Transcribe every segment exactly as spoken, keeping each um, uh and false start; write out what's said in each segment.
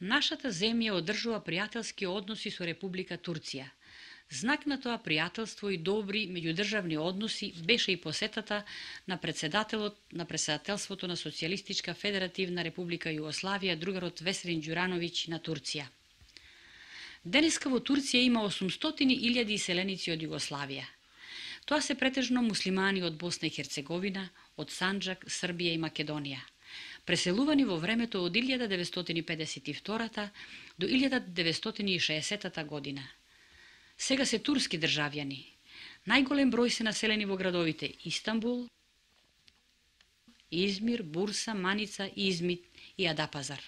Нашата земја одржува пријателски односи со Република Турција. Знак на тоа пријателство и добри меѓудржавни односи беше и посетата на председателот на председателството на Социјалистичка Федеративна Република Југославија, другарот Весрин Ѓурановиќ на Турција. Денеска во Турција има осумстотини илјади иселеници од Југославија. Тоа се претежно муслимани од Босна и Херцеговина, од Санџак, Србија и Македонија, преселувани во времето од илјада деветстотини педесет и втора до илјада деветстотини и шеесета година. Сега се турски државјани. Најголем број се населени во градовите Истанбул, Измир, Бурса, Маница, Измит и Адапазар.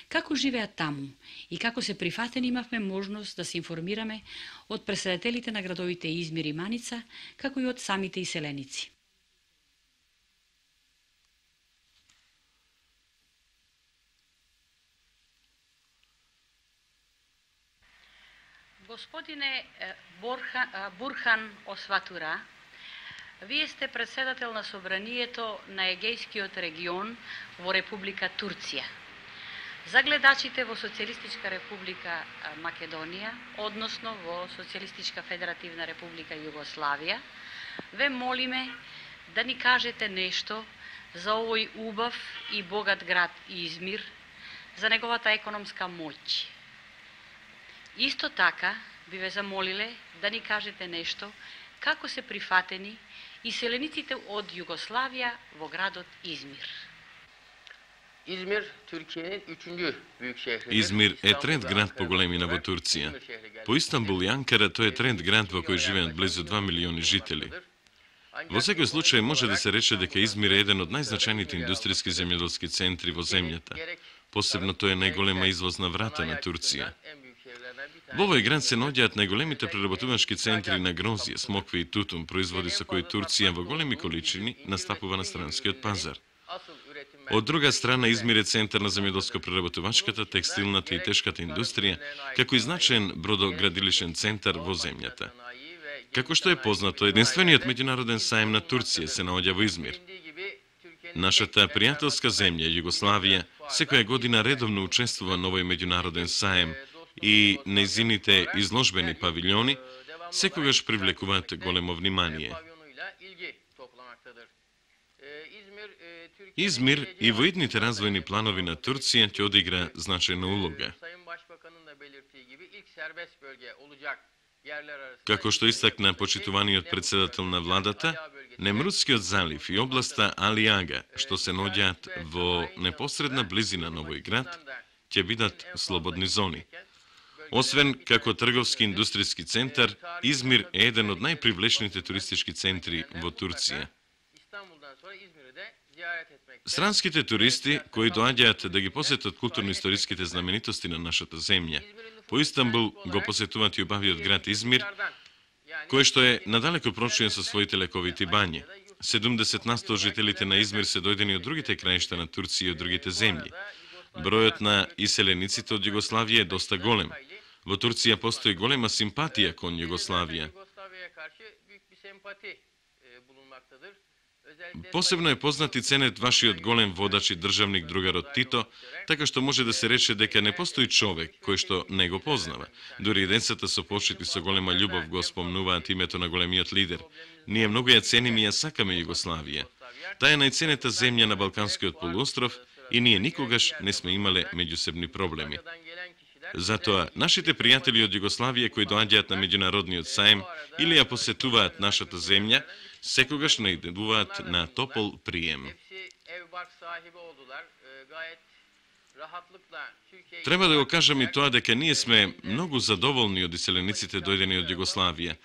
Како живеат таму и како се прифатени имавме можност да се информираме од претседателите на градовите Измир и Маница, како и од самите иселеници. Господине Бурхан Осватура, вие сте председател на Собранието на Егејскиот регион во Република Турција. За гледачите во Социјалистичка Република Македонија, односно во Социјалистичка Федеративна Република Југославија, ве молиме да ни кажете нешто за овој убав и богат град Измир, за неговата економска моќ. Исто така би ве замолиле да ни кажете нешто како се прифатени иселениците од Југославија во градот Измир. İzmir, Türkiye'nin üçüncü büyük şehridir. Измир е трети град по големина во Турција. По Истанбул и Анкара тој е трети град во кој живеат близу два милиони жители. Во секој случај може да се рече дека Измир е еден од најзначајните индустријски земјоделски центри во земјата. Посебно тој е најголема извозна врата на Турција. Во овој град се наоѓаат најголемите преработувачки центри на грозје, смокви и тутун, производи со кои Турција во големи количини настапува на странскиот пазар. Од друга страна, Измир е центар на земјоделско-преработувачката, текстилната и тешката индустрија, како и значаен бродоградилишен центар во земјата. Како што е познато, единствениот меѓународен саем на Турција се наоѓа во Измир. Нашата пријателска земја, Југославија, секоја година редовно учествува на овој меѓународен саем и нејзините изложбени павилјони секогаш привлекуваат големо внимание. Измир и во идните развојни планови на Турција ќе одигра значајна улога. Како што истакна почитуваниот председател на владата, Немрутскиот залив и областа Алиага, што се наоѓаат во непосредна близина на овој град, ќе бидат слободни зони. Освен како трговски индустријски центар, Измир е еден од најпривлечните туристички центри во Турција. Странските туристи кои доаѓаат да ги посетат културно-историските знаменитости на нашата земја, по Истанбул го посетуваат и убавиот град Измир, кој што е надалеку прочиен со своите лековити бањи. седумдесет на сто жителите на Измир се дојдени од другите краишта на Турција и од другите земји. Бројот на иселениците од Југославија е доста голем. Во Турција постои голема симпатија кон Југославија. Посебно е познат и ценет вашиот голем водач и државник другарот Тито, така што може да се рече дека не постои човек кој што не го познава. Дури и децата со почит и со голема љубов го спомнуваат името на големиот лидер. Ние многу ја цениме и ја сакаме Југославија. Таа е најценета земја на Балканскиот полуостров и ние никогаш не сме имале меѓусебни проблеми. Затоа, нашите пријатели од Југославија кои доаѓаат на меѓународниот саем или ја посетуваат нашата земја, секогаш најдуваат на топол прием. Треба да го кажам и тоа дека ние сме многу задоволни од иселениците дојдени од Југославија.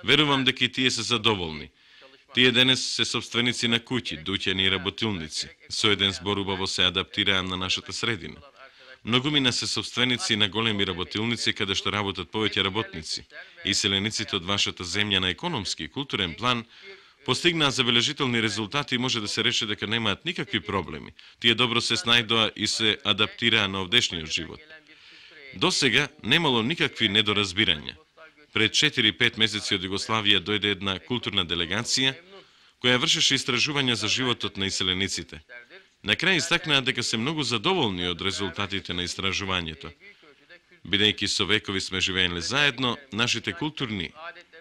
Верувам дека и тие се задоволни. Тие денес се собственици на куќи, дуќани и работилници. Со еден збор убаво се адаптираа на нашата средина. Многумина се собственици на големи работилници каде што работат повеќе работници. Иселениците од вашата земја на економски и културен план постигнаа забележителни резултати и може да се рече дека немаат никакви проблеми. Тие добро се снајдоа и се адаптираа на овдешниот живот. До сега немало никакви недоразбирања. Пред четири-пет месеци од Југославија дојде една културна делегација која вршеше истражувања за животот на иселениците. На крај истакнаа дека се многу задоволни од резултатите на истражувањето. Бидејќи со векови сме живееле заедно, нашите културни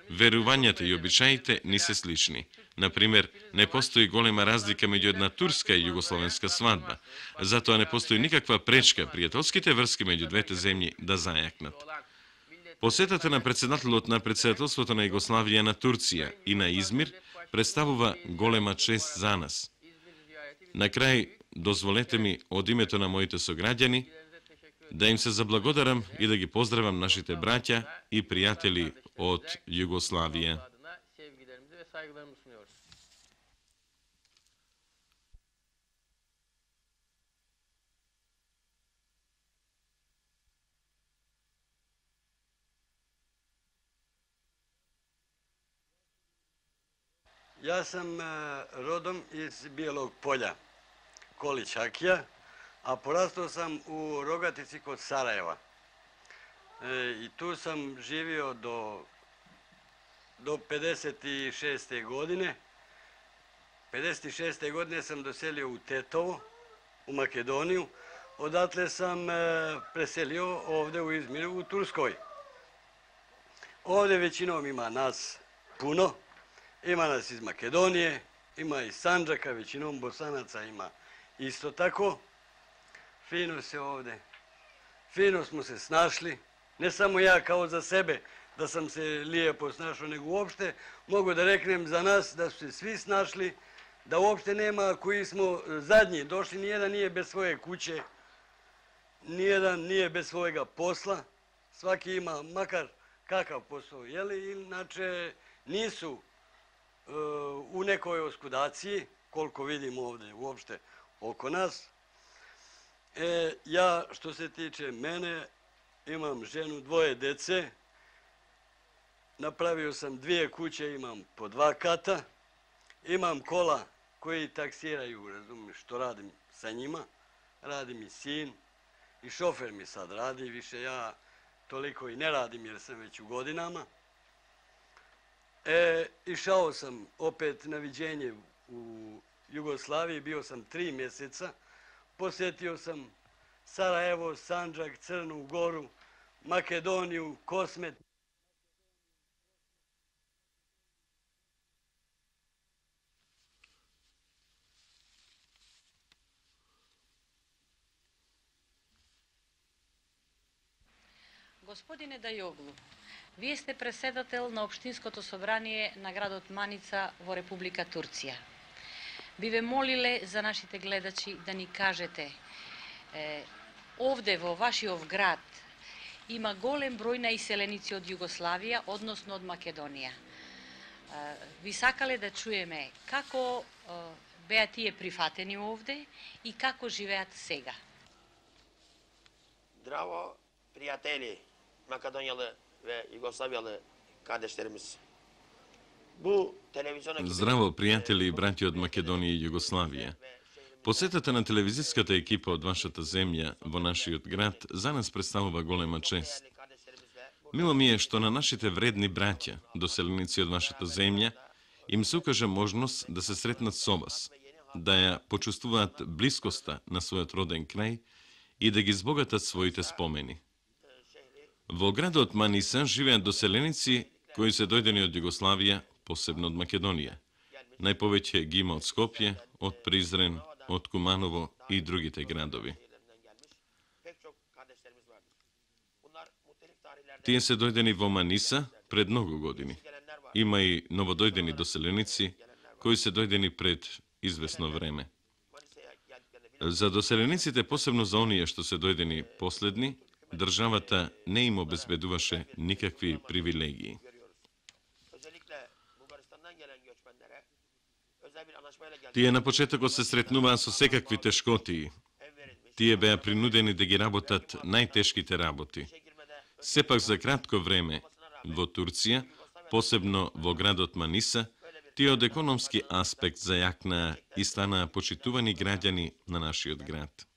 верувањата и обичаите ни се слични. Например, не постои голема разлика меѓу една турска и југословенска свадба. Затоа не постои никаква пречка пријателските врски меѓу двете земји да зајакнат. Посетата на председателот на председателството на Југославија на Турција и на Измир представува голема чест за нас. На крај, дозволете ми од името на моите сограѓани да им се заблагодарам и да ги поздравам нашите браќа и пријатели од Југославија. Јас сам родом из Биелог Поља, Колич Акија, а порастao sam u Rogatici kod Sarajeva. E, I tu sam živio do, do pedeset šeste. godine. pedeset šeste. godine sam doselio u Tetovo, u Makedoniju. Odatle sam e, preselio ovde u Izmiru, u Turskoj. Ovde većinom ima nas puno. Ima nas iz Makedonije, ima iz Sandžaka, većinom Bosanaca ima isto tako. Fino se ovde, fino smo se snašli, ne samo ja kao za sebe da sam se lijepo snašao, nego uopšte mogu da reknem za nas da su se svi snašli, da uopšte nema koji smo zadnji došli, nijedan nije bez svoje kuće, nijedan nije bez svojega posla, svaki ima makar kakav posao, jeli, inače nisu uh, u nekoj oskudaciji, koliko vidimo ovde uopšte oko nas. E, ja, što se tiče mene, imam ženu, dvoje dece, napravio sam dvije kuće, imam po dva kata, imam kola koji taksiraju, razumiješ, što radim sa njima, radi mi sin i šofer mi sad radi, više ja toliko i ne radim jer sam već u godinama. E, išao sam opet na viđenje u Jugoslaviji, bio sam tri mjeseca, posjetio sam Sarajevo, Sandžak, Crnu Goru, Makedoniju, Kosmet. Господине Дајоглу, вие сте преседател на Општинското собрание на градот Маница во Република Турција. Би ве молиле за нашите гледачи да ни кажете, е, овде во вашиот град има голем број на иселеници од Југославија, односно од Македонија. Е, би сакале да чуеме како е, беа тие прифатени овде и како живеат сега. Здраво, пријатели, Македонијалы ве Југославијалы кадештеримиз. Бу телевизионна Здраво, пријатели и браќи од Македонија и Југославија. Посетата на телевизиската екипа од вашата земја во нашиот град за нас представува голема чест. Мило ми е што на нашите вредни браќа, доселеници од вашата земја, им се укаже можност да се сретнат со вас, да ја почувствуваат блискоста на својот роден крај и да ги збогатат своите спомени. Во градот Маниса живеат доселеници кои се дојдени од Југославија, посебно од Македонија. Најповеќе ги има од Скопје, од Призрен, од Куманово и другите градови. Тие се дојдени во Маниса пред многу години. Има и новодојдени доселеници кои се дојдени пред известно време. За доселениците, посебно за оние што се дојдени последни, државата не им обезбедуваше никакви привилегии. Тие на почетокот се сретнуваа со секакви тешкотии. Тие беа принудени да ги работат најтешките работи. Сепак за кратко време во Турција, посебно во градот Маниса, тие од економски аспект зајакнаа и станаа почитувани граѓани на нашиот град.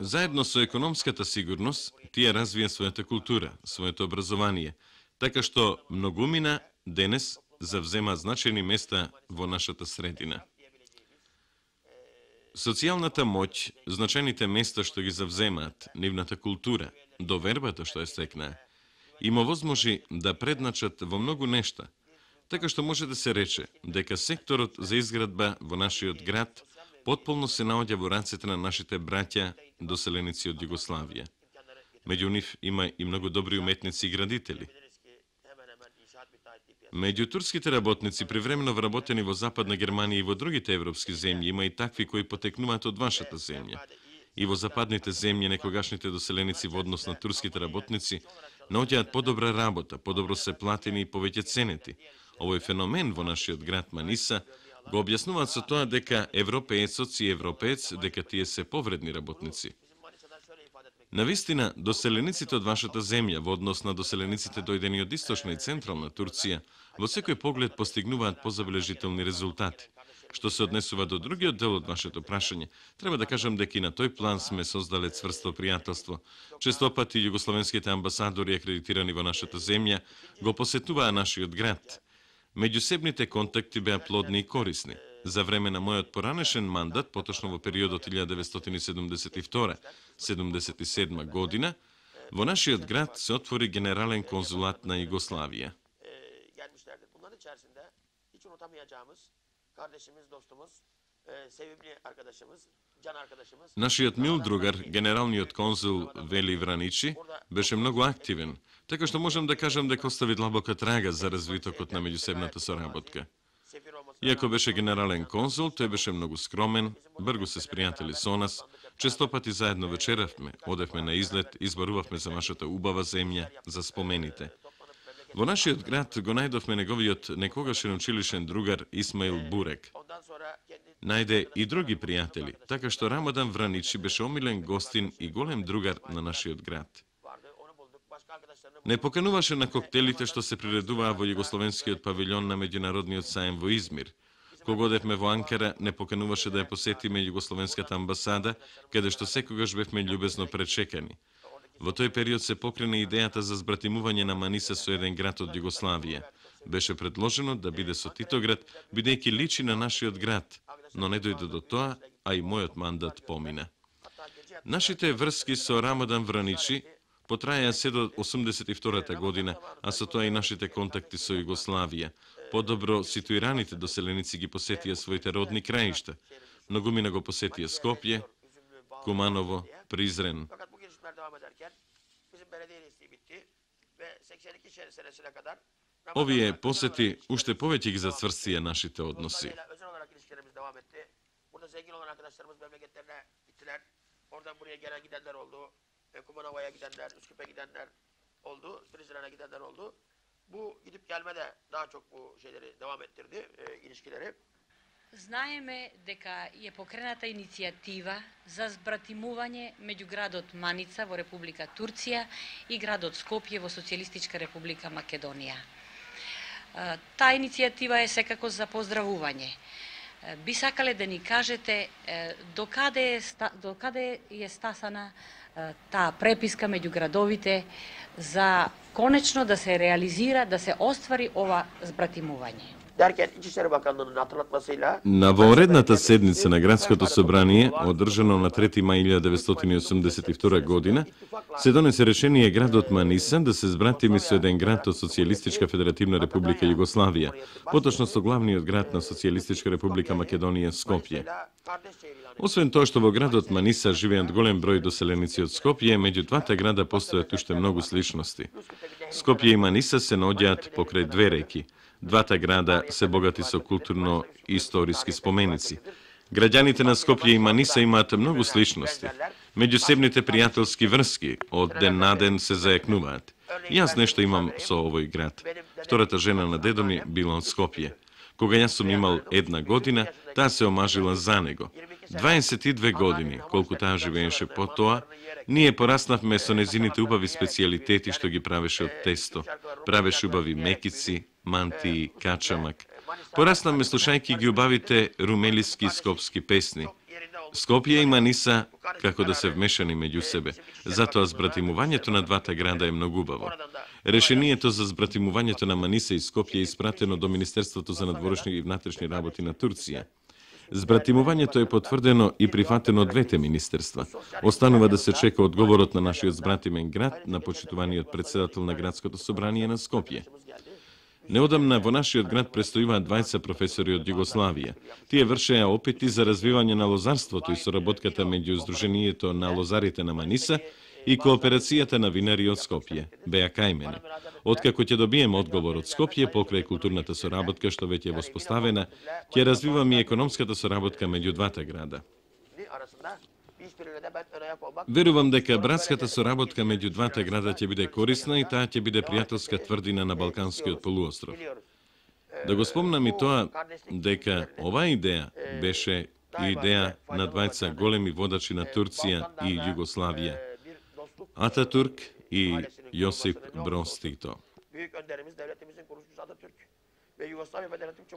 Заедно со економската сигурност, тие развија својата култура, своето образование, така што многумина денес завзема значајни места во нашата средина. Социјалната моќ, значајните места што ги завземаат, нивната култура, довербата што ја стекнаа, им овозможи да предначат во многу нешта, така што може да се рече дека секторот за изградба во нашиот град потполно се наоѓа во рацете на нашите браќа доселеници од Југославија. Меѓу нив има и многу добри уметници и градители. Меѓу турските работници, привремено вработени во Западна Германија и во другите европски земји, има и такви кои потекнуваат од вашата земја. И во западните земји некогашните доселеници во однос на турските работници наоѓаат подобра работа, подобро се платени и повеќе ценети. Овој феномен во нашиот град Маниса го објаснуваат со тоа дека европеецот си европеец, дека тие се повредни работници. Навистина, доселениците од вашата земја во однос на доселениците дојдени од источна и централна Турција во секој поглед постигнуваат позабележителни резултати. Што се однесува до другиот дел од вашето прашање, треба да кажам дека и на тој план сме создале цврсто пријателство. Честопати југословенските амбасадори акредитирани во нашата земја го посетуваа нашиот град. Меѓусебните контакти беа плодни и корисни. За време на мојот поранешен мандат, поточно во периодот илјадесетстотини седумдесет и втора - седумдесет и седма година, во нашиот град се отвори генерален конзулат на Југославија. Нашиот мил другар, генералниот конзул Вели Враничи, беше многу активен, така што можам да кажам дека остави длабока трага за развитокот на меѓусебната соработка. Иако беше генерален конзул, тој беше многу скромен, бргу се спријатели со нас, честопати заедно вечеравме, одевме на излет, избарувавме за нашата убава земја, за спомените. Во нашиот град го најдовме неговиот некогашен училишен другар Исмаил Бурек. Најде и други пријатели, така што Рамадан Враничи беше омилен гостин и голем другар на нашиот град. Не покануваше на коктелите што се приредуваа во југословенскиот павилјон на меѓународниот саем во Измир. Кога одевме во Анкара, не покануваше да ја посетиме југословенската амбасада, каде што секогаш бевме љубезно пречекани. Во тој период се покрена идејата за збратимување на Маниса со еден град од Југославија. Беше предложено да биде со Титоград, бидејќи личи на нашиот град, но не дојде до тоа, а и мојот мандат помина. Нашите врски со Рамадан Враничи потраја се до осумдесет и втората година, а со тоа и нашите контакти со Југославија. Подобро ситуираните доселеници ги посетија своите родни краишта. Многумина го посетија Скопје, Куманово, Призрен. Овие посети уште повеќе ги зацврстија нашите односи. Kumanova'ya gidenler, Üsküp'e gidenler oldu, Prizren'e gidenler oldu. Bu gidip gelme de daha çok bu şeyleri devam ettirdi, e, ilişkileri. Знаеме дека е покрената иницијатива за збратимување меѓу градот Маница во Република Турција и градот Скопје во Социјалистичка Република Македонија. Таа иницијатива е секако за поздравување. Би сакале да ни кажете докаде е, докаде е стасана таа преписка меѓу градовите за конечно да се реализира, да се оствари ова збратимување. Derken İçişleri Bakanlığı'nın hatırlatmasıyla На воредната седница на Градското собрание, одржано на трети мај илјадесетстотини осумдесет и втора година, се донесе решение градот Маниса да се збратими со еден град од Социјалистичка Федеративна Република Југославија, поточно со главниот град на Социјалистичка Република Македонија, Скопје. Освен тоа што во градот Маниса живеат голем број доселеници од Скопје, меѓу двата града постојат уште многу сличности. Скопје и Маниса се наоѓаат покрај две реки. Двата града се богати со културно-историски споменици. Граѓаните на Скопје и Маниса имаат многу сличности. Меѓусебните пријателски врски од ден на ден се зајакнуваат. И јас нешто имам со овој град. Втората жена на дедо ми била од Скопје. Кога јас сум имал една година, таа се омажила за него. дваесет и две години, колку таа живееше по тоа, ние пораснавме со незините убави специјалитети што ги правеше од тесто. Правеше убави мекици, мантии, качамак. Пораснавме слушајќи ги убавите румелиски и скопски песни. Скопје и Маниса како да се вмешани меѓу себе. Затоа збратимувањето на двата града е многу убаво. Решението за збратимувањето на Маниса и Скопје е испратено до Министерството за надворешни и внатрешни работи на Турција. Збратимувањето е потврдено и прифатено од двете министерства. Останува да се чека одговорот на нашиот збратимен град, на почитуваниот председател на градското собрание на Скопје. Неодамна во нашиот град престојуваат двајца професори од Југославија. Тие вршеа опити за развивање на лозарството и соработката меѓу Сдруженијето на лозарите на Маниса и кооперацијата на винари од Скопје, беа кајмени. Откако ќе добиеме одговор од Скопје покрај културната соработка што веќе е воспоставена, ќе развиваме и економската соработка меѓу двата града. Верувам дека братската соработка меѓу двата града ќе биде корисна и таа ќе биде пријателска тврдина на Балканскиот полуостров. Да го спомнам и тоа дека оваа идеја беше и идеја на двајца големи водачи на Турција и Југославија, Ататурк и Јосип Броз Тито.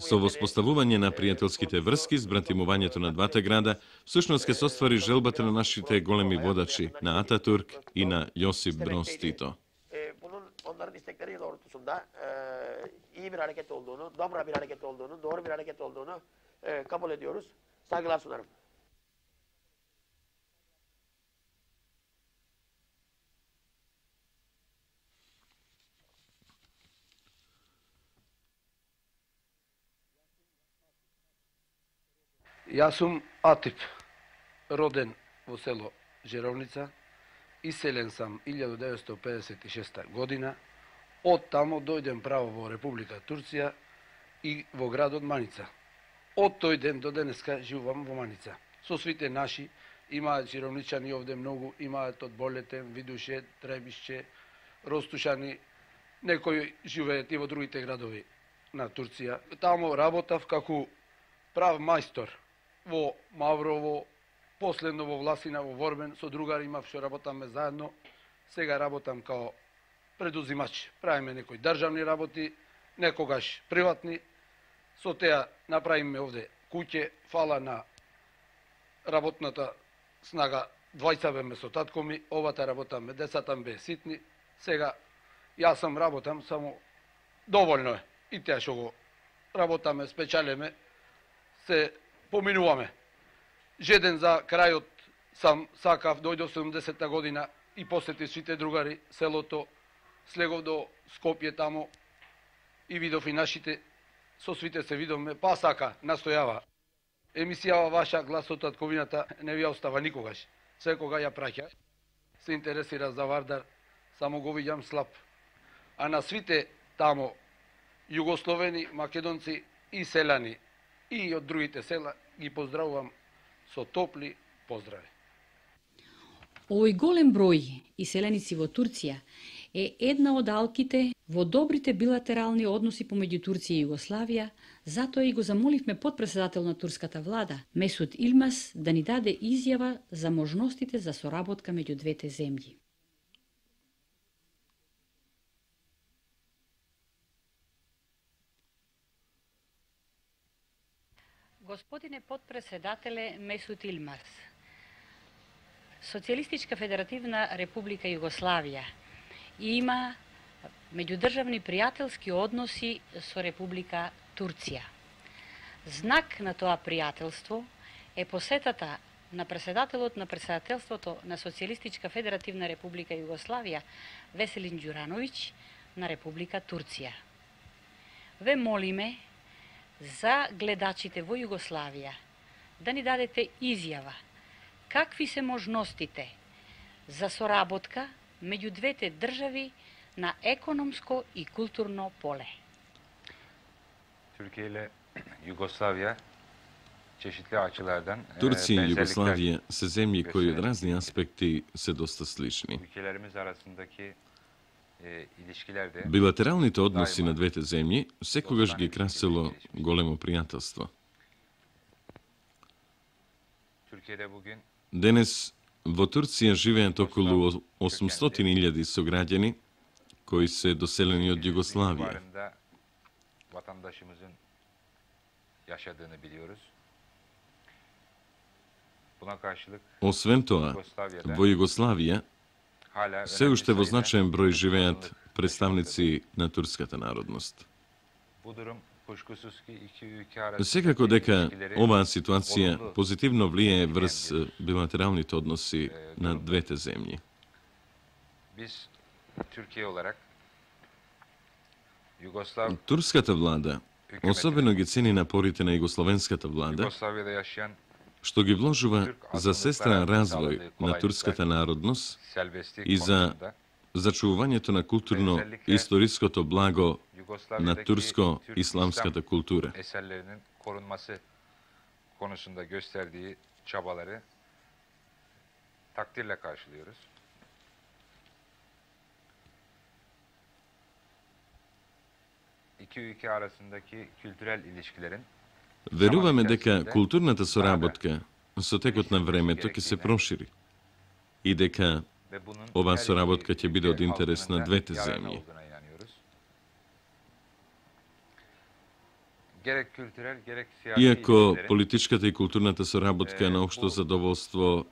Со воспоставување на пријателските врски, збратимувањето на двата града, всушност ќе се оствари желбата на нашите големи водачи, на Ататурк и на Јосип Броз Тито. Onların istekleri doğrultusunda iyi bir hareket olduğunu, dobra bir hareket olduğunu, doğru bir hareket olduğunu kabul ediyoruz. Saygılar sunarım. Јас сум Атип, роден во село Жеровница, иселен сам илјада деветстотини педесет и шеста година, од тамо дојдем право во Република Турција и во градот Маница. Од тој ден до денеска живувам во Маница. Со свите наши, имаат Жеровничани овде многу, имаат од Болетен, Видуше, Требишче, Ростушани, некои живеат и во другите градови на Турција. Тамо работав како прав мајстор во Маврово, последно во Власина, во Ворбен, со другари имав што работаме заедно. Сега работам као предузимач. Правиме некои државни работи, некогаш приватни. Со теа направиме овде куќе, фала на работната снага, двајца беме со татко ми, овата работаме, децата бе ситни. Сега јас сам работам, само доволно е. И теа што го работаме, спечалеме, се поминуваме. Жеден за крајот сам сакав, дојде седумдесетта година и посети сите другари селото, слегов до Скопје тамо и видов и нашите, со свите се видовме, па сака, настојава. Емисијава ваша глас од татковината не ви ја остава никогаш. Секога ја праќа. Се интересира за Вардар, само го видам слаб. А на свите тамо, југословени, македонци и селани, и од другите села ги поздравувам со топли поздрави. Овој голем број иселеници во Турција е една од алките во добрите билатерални односи помеѓу Турција и Југославија, затоа и го замоливме подпредседател на турската влада, Месут Илмас, да ни даде изјава за можностите за соработка меѓу двете земји. Господине подпредседателе Месут Илмас, Социјалистичка федеративна република Југославија има меѓудржавни пријателски односи со Република Турција. Знак на тоа пријателство е посетата на председателот на председателството на Социјалистичка федеративна република Југославија Веселин Ѓурановиќ на Република Турција. Ве молиме за гледачите во Југославија да ни дадете изјава какви се можностите за соработка меѓу двете држави на економско и културно поле. Türkiye ile Yugoslavya çeşitli açılardan Турција и Југославија се земји кои од разни аспекти се доста слични. ülkelerimiz arasındaki e, ilişkilerde Билатералните односи на двете земји секогаш ги красело големо пријателство. Türkiye'de bugün Денес во Турција живеат околу осумстотини илјади сограѓани кои се доселени од Југославија. civarında vatandaşımızın yaşadığını biliyoruz. Buna karşılık Освен тоа, Югославијада во Југославија hala се önemli уште во sayıda значаен број живеат zorunluluk представници на турската народност. Bu durum kuşkusuz ki iki ülke arasındaki Секако дека ilişkileri оваа ситуација olumlu позитивно влијае врз etkileyen bir, билатералните односи e, на durumdur. двете земји. Biz Türkiye olarak Yugoslav Турската влада hükümetine, особено ги цени напорите на југословенската влада, Yugoslavya'da yaşayan што ги вложува Türk за сестран azınlıklara развој sağladığı на kolaylıklar, турската народност, serbestlik и за konusunda зачувувањето на културно Özellikle историското благо на Yugoslavya'daki турско-исламската Türk култура. İslam eserlerinin korunması konusunda gösterdiği çabaları takdirle karşılıyoruz. İki ülke arasındaki kültürel ilişkilerin Веруваме дека културната соработка со текот на времето ќе се прошири и дека ve bunun Ova her sоработка iki ќе биде од ülke интерес halkının на da двете yararına земји. olduğuna inanıyoruz. Gerek kültürel gerek siyasi Иако ilişkilerin политичката и културната соработка е на општо задоволство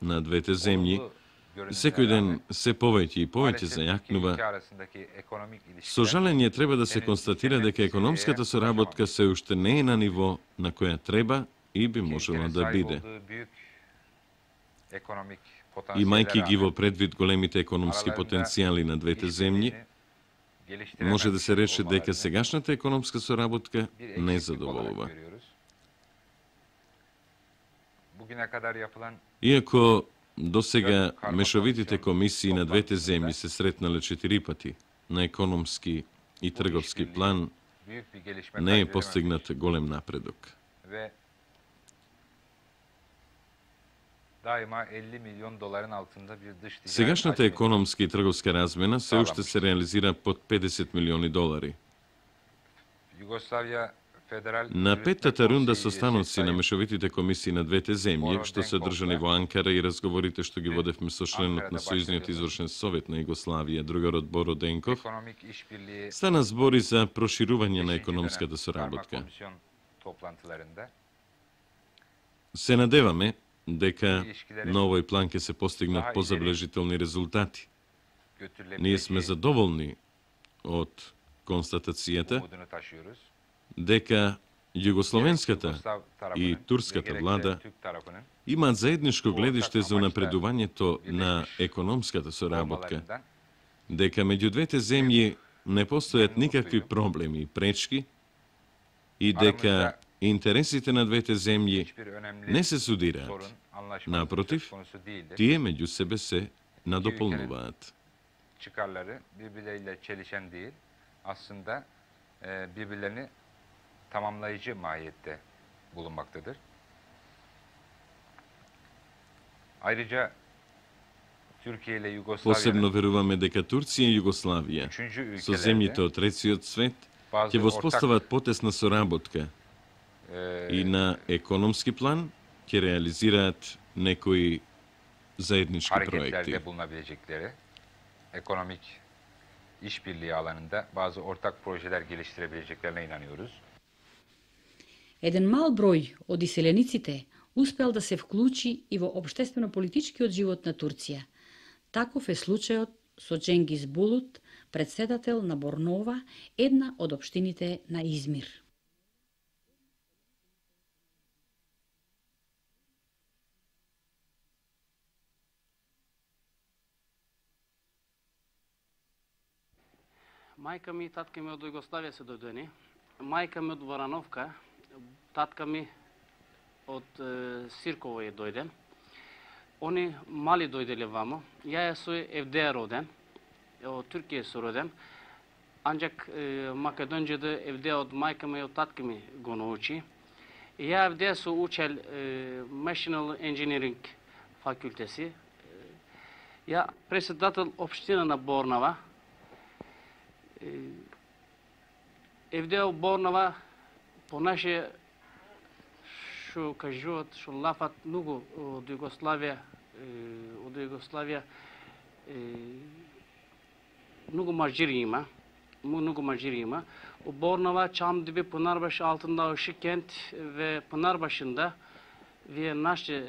на двете земји, olumlu görünümüne секој ден rağmen се повеќе и повеќе maalesef iki зајакнува. ülke arasındaki ekonomik Со ilişkiler жалење треба да се констатира дека економската соработка се уште не е на ниво на која треба и би iki можело ülkenin да sahip биде. olduğu büyük ekonomik Имајќи ги во potansiyeller предвид големите економски Aralarında потенцијали на двете земји, geliştiremez може да се рече дека olmalarını сегашната економска соработка bir не eksiklik задоволува. olarak görüyoruz. Bugüne kadar yapılan Иако до сега мешовитите комисии на двете земји се сретнале четири пати на економски и трговски план, büyük bir gelişme не е kaydedememiş постигнат голем напредок. ve daima elli milyon doların altında bir dış ticaret Сегашната hacmi економска и трговска размена се уште се реализира под педесет милиони долари. Yugoslavya Federal На Yürütme петтата рунда Konseyi состаноци üyesi на Sayın мешовитите комисии на двете земји, што се одржани во Анкара и разговорите што ги водевме со членот на Сојузниот извршен совет на Југославија, другарот Боро Денков, Ekonomik işbirliği стана збори за проширување на beşinci економската dönem karma соработка. komisyon toplantılarında Се надеваме дека на овој план ќе се постигнат позаблежителни резултати. Ние сме götürülebileceği задоволни од констатацијата umudunu taşıyoruz. дека југословенската Yugoslav tarafının и ve турската gerekse влада Türk tarafının имаат заедничко гледиште за унапредувањето на економската соработка, olmalarından дека меѓу двете земји не постојат никакви проблеми и пречки и дека интересите на двете земји hiçbir önemli не се судираат. sorun, anlaşmazlık Naprotiv, söz konusu değildir. Тие меѓу себе се надополнуваат. Çıkarları birbirleriyle çelişen değil, aslında e, birbirlerini tamamlayıcı mahiyette bulunmaktadır. Ayrıca Türkiye ile Посебно Yugoslavya'nın веруваме дека Турција и Југославија üçüncü со земјите ülkelerde од третиот свет bazı ќе воспостават потесна соработка e, и на економски план ќе реализираат некои заеднички проекти. hareketlerde bulunabilecekleri, ekonomik işbirliği alanında bazı ortak projeler geliştirebileceklerine inanıyoruz. Еден мал број од иселениците успел да се вклучи и во општествено-политичкиот живот на Турција. Таков е случајот со Cengiz Bulut, председател на Борнова, една од општините на Измир. Мајка ми и татка ми од Југославија се дојдени. Мајка ми од Варановка, татка ми од е, Сирково е дојден. Они мали дојделе вамо. Ја е со Евдеја роден, од Туркија со роден. Анџак е, Македонџеде Евдеја од мајка ми и од татка ми го научи. И ја Евдеја со учел е, Machine Engineering факултеси. Ја председател општина на Борнава. Евдеја Борнава понаше што кажуваат, што лафат многу од Југославија, од Југославија многу мажири има, многу мажири има. У Борнова Çamdibi Pınarbaşı altında Işıkkent ve Pınarbaşı'nda вие наше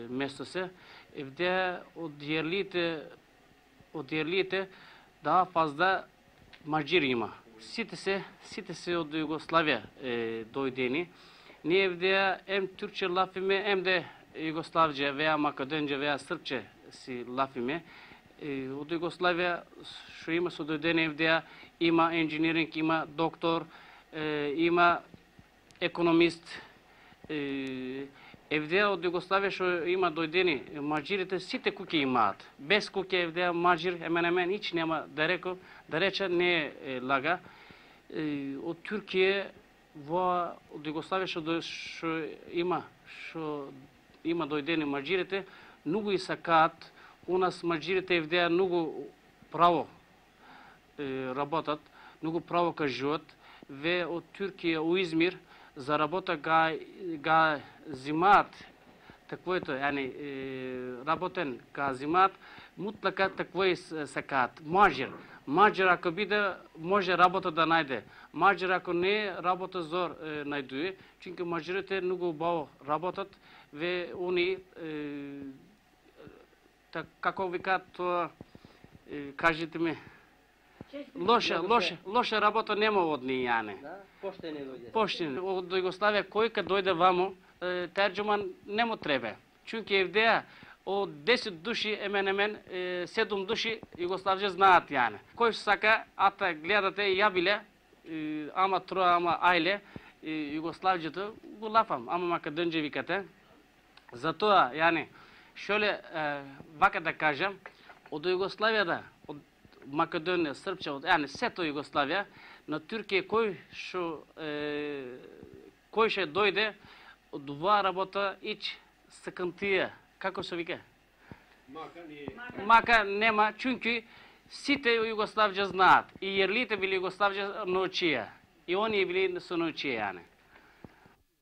место се, евде од јерлите, од јерлите, да фазда маџир има. Сите се, сите се од Југославија е, дојдени. Ние евде ем турче лафиме, ем де Југославџе, веа Македонџе, веа Српче си лафиме. Е, од Југославија што има со дојдени евде, има инженеринг, има доктор, е, има економист. Е, евде од Југославија што има дојдени маџирите, сите куќи имаат. Без куќе евде маџир, емен емен, ич нема да реко, да рече не е лага. Е, од Туркија во од Југославија што што има што има дојдени маџирите, многу и сакаат. У нас маџирите евде многу право е, работат, многу право кажуваат. Ве од Туркија у Измир за работа га га зимаат таквото, яни работен га зимаат, мутлака такво сакаат. Маџир, маџир ако биде може работа да најде. Маџир ако не работа зор е, најдуе, чинка маџирите многу убаво работат, ве они е, так, како викаат тоа, е, кажете ми, лоша, лоша, лоша работа нема од ние, јане. Поштени дојде. Поштени. Од Југославија кој кад дојде вамо, терџуман не му треба. Чунки евдеја од десет души, емен емен, седум души Југославџе знаат јане. Кој сака, ата гледате јабиле, ама троа, ама ајле, Југославџето, го лафам, ама Македонџе викате. Затоа, јане, шоле, вака да кажам, од Југославија да, од Македонија, Српче, од јане, сето Југославија, на Туркија кој што е, кој ќе дојде од оваа работа ич сакантија, како се вика? Мака не Мака нема, чунки сите Југославџе знаат. И јерлите били Југославџе научија. И оние били со научија, јане.